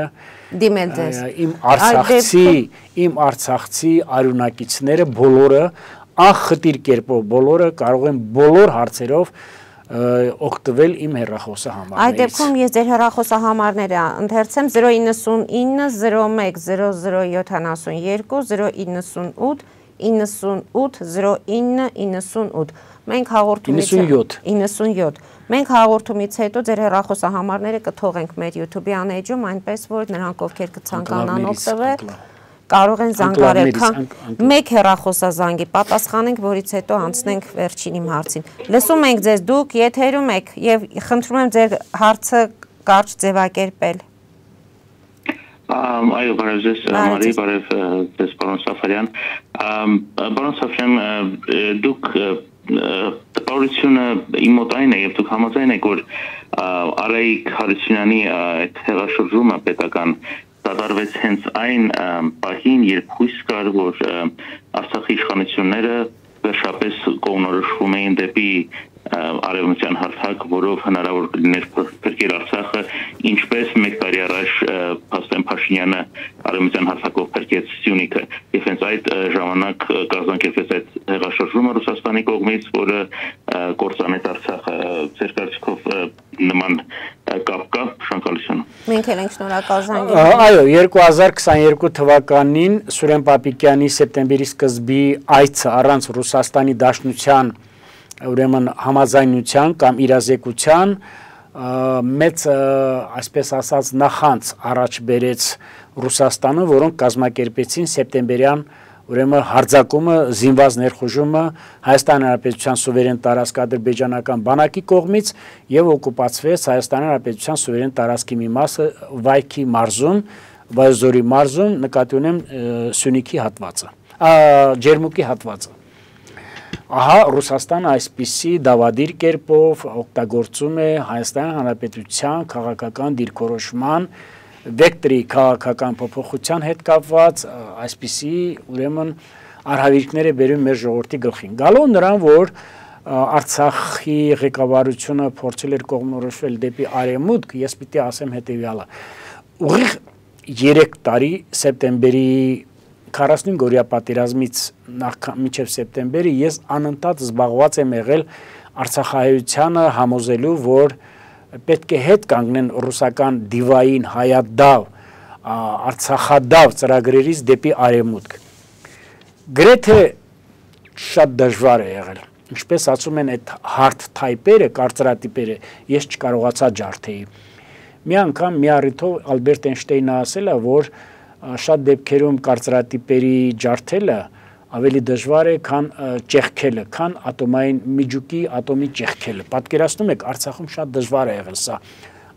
դիմել ձեզ։ Իմ արցախցի, իմ արցախցի արյունակիցները բոլորը անխտիր կերպով բոլորը կարող են բոլոր հարցերով օգտվել իմ հեռախոսահամարներից։ Այդ դեպքում ես ձեր հեռախոսահամարները ընթերցեմ զրո իննսունինը զրո մեկ զրո զրո յոթանասունյոթ զրո իննսունութ իննսունութ զրո ինը իննսունութ Մենք հաղորդումից իննսունյոթ Մենք հաղորդումից հետո ձեր հեռախոսահամարները կթողենք մեր YouTube-ի անեջում, այնպես որ նրանք ովքեր կցանկանան օգտվել կարող են զանգարել, մեկ հեռախոսազանգի պատասխանենք, որից հետո անցնենք վերջին իմ հարցին։ Լսում ենք ձեզ, դուք եթերում եք եւ խնդրում եմ ձեր հարցը կարճ ձևակերպել։ Այո, բարև ձեզ, Մարի, բարև ձեզ, պարոն Սաֆարյան։ Պարոն Սաֆարյան, դուք տպավորությունը իմ մոտ այն է եւ դուք համաձայն եք, որ Արայիկ Հարությունյանի այդ հեղաշրջումը պետական դադարվեց հենց այն պահին, երբ հույս կար, որ Արցախի իշխանությունները վերջապես կողմնորոշվում էին դեպի արևմտյան հարթակ, որով հնարավոր կլիներ փրկել Արցախը, ինչպես մեկ տարի առաջ Փաստեն Փաշինյանը արևմտյան հարթակով փրկեց Սյունիքը, եւ հենց այդ ժամանակ կազմակերպվեց այդ հեղաշրջումը Ռուսաստանի կողմից, որը կործանեց Արցախը։ Ձեր կարծիքով նման կապ կա, շնորհակալություն։ Մենք էլ ենք շնորհակալ զանգել։ Այո, երկու հազար քսաներկու թվականին Սուրեն Պապիկյանի սեպտեմբերի սկզբի այցը առանց Ռուսաստանի Դաշնության ուրեմն համաձայնության կամ իրազեկության մեծ, այսպես ասած, նախանց առաջ բերեց Ռուսաստանը, որոնք կազմակերպեցին սեպտեմբերյան ուրեմն հարձակումը, զինված ներխուժումը Հայաստանի Հանրապետության սուվերեն տարածք ադրբեջանական բանակի կողմից եւ օկուպացվեց Հայաստանի Հանրապետության սուվերեն տարածքի մի մասը Վայքի մարզում, Վայոց-Ձորի մարզում, նկատի ունեմ Սյունիքի հատվածը, Ջերմուկի հատվածը։ Ահա Ռուսաստանը այսպիսի դավադիր կերպով օգտագործում է Հայաստանի Հանրապետության քաղաքական դիրքորոշման վեկտորի քաղաքական փոփոխության հետ կապված այսպիսի ուրեմն արհավիրքներ է բերում մեր ժողովրդի գլխին։ Գալով նրան, որ Արցախի ղեկավարությունը փորձել էր կողմնորոշվել դեպի արևմուտք, ես պիտի ասեմ հետևյալը։ Ուղիղ երեք տարի սեպտեմբերի քառասունինգ-օրյա պատերազմից մինչև սեպտեմբերի ես անընդհատ զբաղված եմ եղել Արցախահայությանը համոզելու, որ պետք է հետ կանգնեն ռուսական դիվային հայադավ, արցախադավ ծրագրերից դեպի արևմուտք։ Գրեթե շատ դժվար է եղել։ Ինչպես ասում են այդ hard type-երը, կարծրատիպերը, ես չկարողացա ջարդեի։ Մի անգամ մի առիթով Ալբերտ Էյնշտեյնը ասել է, որ շատ դեպքերում կարծրատիպերի ջարդելը ավելի դժվար է, քան ճեղքելը, քան ատոմային միջուկի ատոմի ճեղքելը։ Պատկերացնում եք, Արցախում շատ դժվար է եղել սա։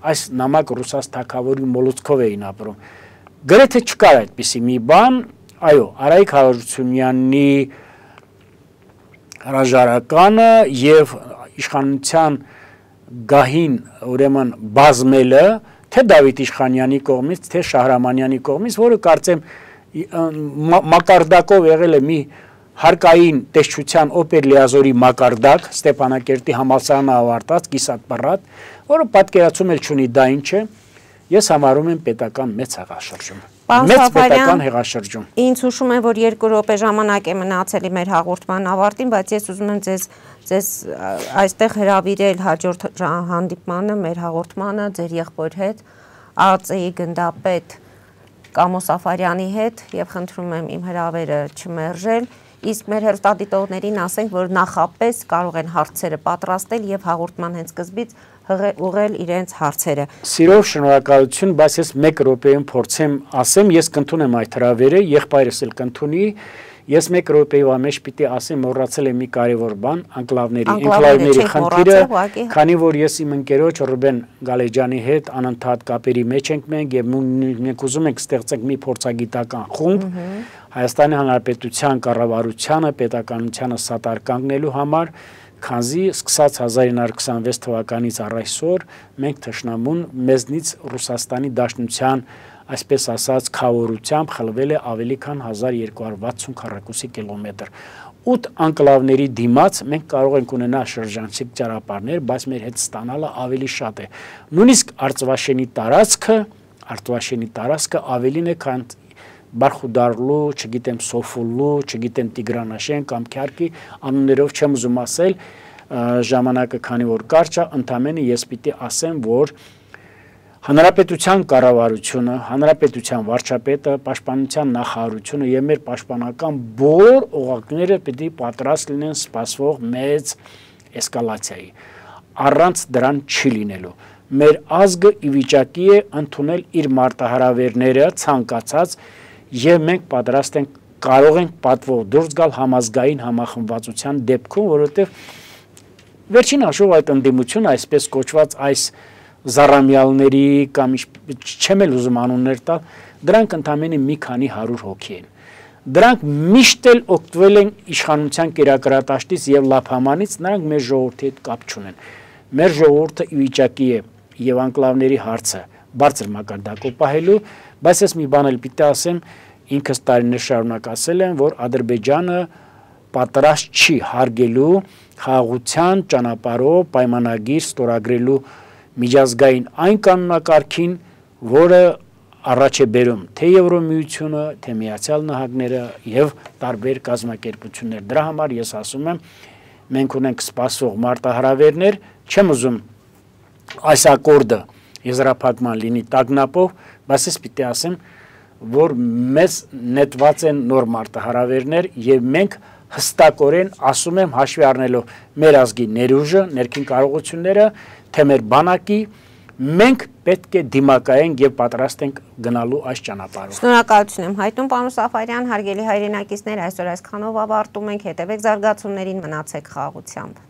Այս նամակ ռուսաց թագավորի մոլուցքով էին ապրում։ Գրեթե չկար այդպիսի մի բան, այո, Արայիկ Հարությունյանի հրաժարականը եւ իշխանության գահին ուրեմն բազմելը թե Դավիթ Իշխանյանի կողմից, թե Շահրամանյանի կողմից, որը կարծեմ մակարդակով եղել է մի հարկային տեսչության օպեր լիազորի մակարդակ, Ստեփանակերտի համալսարանը ավարտած, կիսատ պռատ, որը պատկերացում էլ չունի դա ինչ է, ես համարում եմ պետական մեծ հեղաշրջում։ Մեծ պետական հեղաշրջում։ Ինձ հուշում է, որ երկու րոպե ժամանակ է մնացել մեր հաղորդման ավարտին, բայց ես ուզում եմ ձեզ ձեզ այստեղ հրավիրել հաջորդ հանդիպմանը, մեր հաղորդմանը ձեր եղբոր հետ, ԱԱԾ-ի գնդապետ Կամո Սաֆարյանի հետ եւ խնդրում եմ իմ հրավերը չմերժել, իսկ մեր հեռուստադիտողներին ասենք, որ նախապես կարող են հարցերը պատրաստել եւ հաղորդման հենց սկզբից ուղղել իրենց հարցերը։ Սիրով շնորհակալություն, բայց ես մեկ րոպեում փորձեմ ասեմ, ես կընդունեմ այդ հրավերը, եղբայրս էլ կընդունի, ես մեկ րոպեով ամեջ պիտի ասեմ, մոռացել եմ մի կարևոր բան, անկլավների, ինկլավների խնդիրը, քանի որ ես իմ ընկերոջ Ռուբեն Գալեջյանի հետ անընդհատ կապերի մեջ ենք մենք եւ մենք ուզում ենք ստեղծենք մի փորձագիտական խումբ Հայաստանի Հանրապետության կառավարությանը, պետականությանը սատար կանգնելու համար, քանզի սկսած հազար ինը հարյուր քսանվեց թվականից առ այսօր մենք թշնամուն մեզնից Ռուսաստանի Դաշնության, այսպես ասած, խավորությամբ խլվել է ավելի քան հազար երկու հարյուր վաթսուն քառակուսի կիլոմետր։ ութ անկլավների դիմաց մենք կարող ենք ունենալ շրջանցիկ ճանապարհներ, բայց մեր հետ ստանալը ավելի շատ է։ Նույնիսկ Արծվաշենի տարածքը, Արծվաշենի տարածքը ավելին է, քան Բարխուդարլու, չգիտեմ Սոֆուլու, չգիտեմ Տիգրանաշեն կամ Քյարքի անուններով չեմ ուզում ասել, ժամանակը քանի որ կարճ է, ընդամենը ես պիտի ասեմ, որ Հանրապետության կառավարությունը, Հանրապետության վարչապետը, Պաշտպանության նախարարությունը եւ մեր պաշտպանական բոլոր օղակները պիտի պատրաստ լինեն սպասվող մեծ էսկալացիայի։ Առանց դրան չի լինելու։ Մեր ազգը ի վիճակի է ընդունել իր մարտահրավերները ցանկացած եւ մենք պատրաստ ենք կարող ենք պատվով դուրս գալ համազգային համախմբվածության դեպքում, որովհետեւ վերջին հաշվով այդ ընդդիմությունը այսպես կոչված այս Զարամյալների կամ չեմ էլ ուզում անուններ տալ, դրանք ընդամենը մի քանի հարյուր հոգի են։ Դրանք միշտ էլ օգտվել են իշխանության կերակրատաշտից եւ լափամանից, նրանք մեր ժողովրդի հետ կապ չունեն։ Մեր ժողովուրդը ի վիճակի է եւ անկլավների հարցը բարձր մակարդակով պահելու, բայց ես մի բան էլ պիտի ասեմ, ինքս տարիներ շարունակ ասել եմ, որ Ադրբեջանը պատրաստ չի հարգելու խաղաղության ճանապարհով պայմանագիր ստորագրելու միջազգային այն կանոնակարգին, որը առաջ է բերում թե Եվրոմիությունը, թե Միացյալ Նահանգները եւ տարբեր կազմակերպություններ։ Դրա համար ես ասում եմ, մենք ունենք սպասող մարտահրավերներ, չեմ ուզում այս ակորդը եզրափակման լինի տագնապով, բայց ես պիտի ասեմ, որ մեզ նետված են նոր մարտահրավերներ եւ մենք հստակորեն ասում եմ հաշվի առնելով մեր ազգի ներուժը, ներքին կարողությունները, թե մեր բանակի մենք պետք է դիմակայենք եւ պատրաստ ենք գնալու այս ճանապարհով։ Շնորհակալություն եմ հայտնում պարոն Սաֆարյան, հարգելի հայրենակիցներ, այսօր այսքանով ավարտում ենք, հետևեք զարգացումներին, մնացեք խաղաղությամբ։